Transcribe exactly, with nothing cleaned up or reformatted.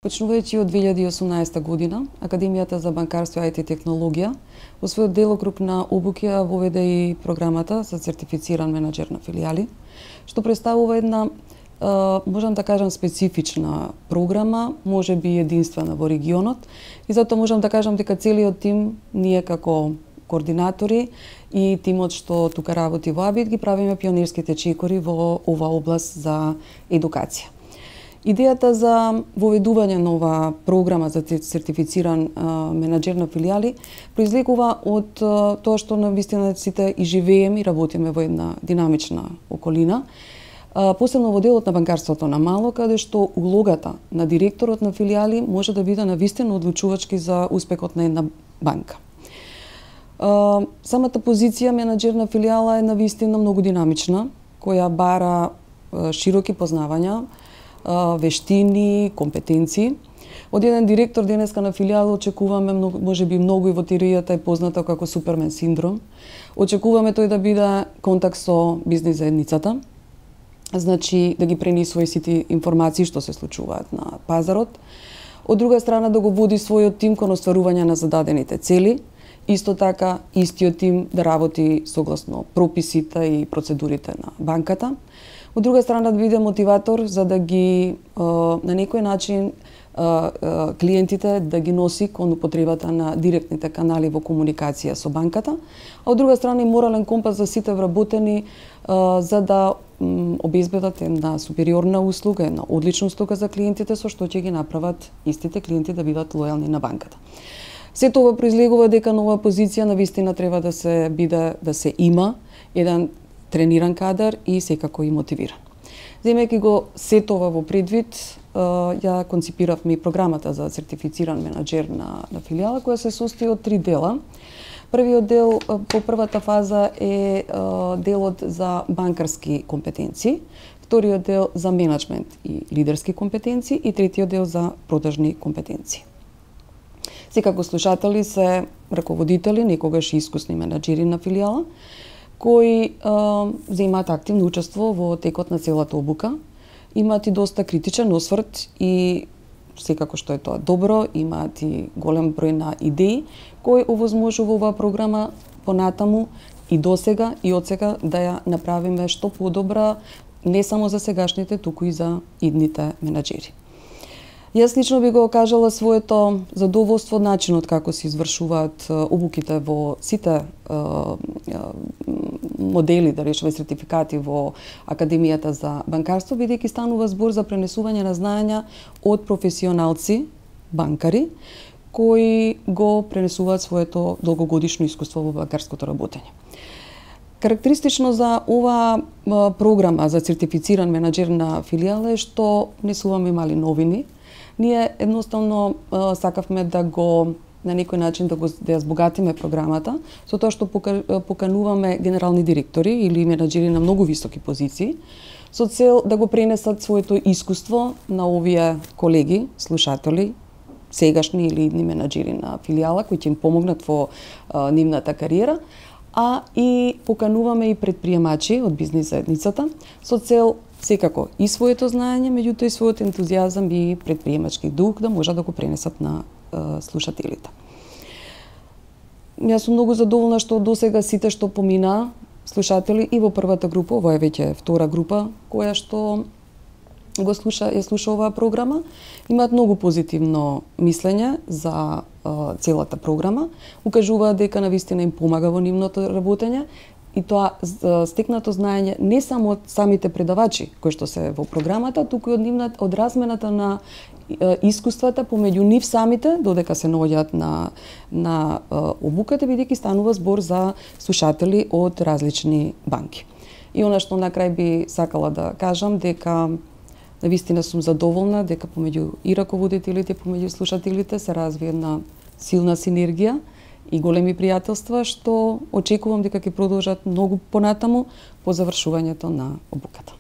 Почнувајќи од две илјади и осумнаесета година, Академијата за банкарство и ай ти технологија во својот делокруг на обуки ја воведе и програмата за сертифициран менаџер на филијали, што представува една, можам да кажам, специфична програма, можеби единствена во регионот, и затоа можам да кажам дека целиот тим, ние како координатори и тимот што тука работи во АБИТ, ги правиме пионерските чекори во ова област за едукација. Идејата за воведување на ова програма за сертифициран а, менаџер на филијали произлегува од а, тоа што навистина сите и живееме и работиме во една динамична околина, а, посебно во делот на банкарството на мало, каде што улогата на директорот на филијали може да биде навистина одлучувачки за успехот на една банка. А, самата позиција менаџер на филијала е навистина многу динамична, која бара а, широки познавања, вештини, компетенции. Од еден директор денеска на филијал очекуваме, можеби многу и во теоријата е познато како Супермен синдром. Очекуваме тој да биде контакт со бизнис заедницата, значи да ги пренесува сите информации што се случуваат на пазарот. Од друга страна да го води својот тим кон остварување на зададените цели, исто така истиот тим да работи согласно прописите и процедурите на банката. Од друга страна да биде мотиватор за да ги на некој начин клиентите да ги носи кон употребата на директните канали во комуникација со банката, а од друга страна и морален компас за сите вработени за да обезбедат една супериорна услуга, една одлична услуга за клиентите со што ќе ги направат истите клиенти да бидат лојални на банката. Сето ова произлегува дека нова позиција навистина треба да се биде да се има еден трениран кадар и секако и мотивиран. Земејќи го сето ова во предвид, ја конципиравме и програмата за сертифициран менаџер на, на филијала, која се состои од три дела. Првиот дел по првата фаза е делот за банкарски компетенции, вториот дел за менеджмент и лидерски компетенции и третиот дел за продажни компетенции. Секако слушатели се раководители, некогаш и искусни менаџери на филијала, кои а, земаат активно учество во текот на целата обука, имаат и доста критичен осврт и секако што е тоа добро, имаат и голем број на идеи кои овозможува оваа програма понатаму и досега и одсега да ја направиме што подобра не само за сегашните, туку и за идните менаџери. Јас лично би го кажала своето задоволство од начинот како се извршуваат обуките во сите модели, да речеме сертификати во Академијата за банкарство, бидејќи станува збор за пренесување на знаења од професионалци, банкари, кои го пренесуваат своето долгогодишно искуство во банкарското работење. Карактеристично за оваа програма за сертифициран менаџер на филијала е што не суваме имали новини. Ние едноставно сакавме да го на некој начин да го да ја збогатиме програмата со тоа што покануваме генерални директори или менаџери на многу високи позиции со цел да го пренесат своето искуство на овие колеги, слушатели, сегашни или идни менаџери на филијала кои ќе им помогнат во а, нивната кариера, а и покануваме и предприемачи од бизнис заедницата со цел секако и своето знаење, меѓутоа и својот ентузијазам и предприемачки дух да можат да го пренесат на е, слушателите. Јас сум многу задоволна што досега сите што помина слушатели и во првата група, ова е веќе втора група која што го слуша, ја слуша оваа програма, имаат многу позитивно мислење за е, целата програма, укажуваат дека навистина им помага во нивното работење и тоа стекнато знаење не само од самите предавачи кои што се во програмата, туку и од нивната од размената на искуствата помеѓу нив самите, додека се наоѓаат на на обуката, бидејќи станува збор за слушатели од различни банки. И она што на крај би сакала да кажам дека навистина сум задоволна дека помеѓу и раководителите, помеѓу слушателите се развие една силна синергија и големи пријателства што очекувам дека ќе продолжат многу понатаму по завршувањето на обуката.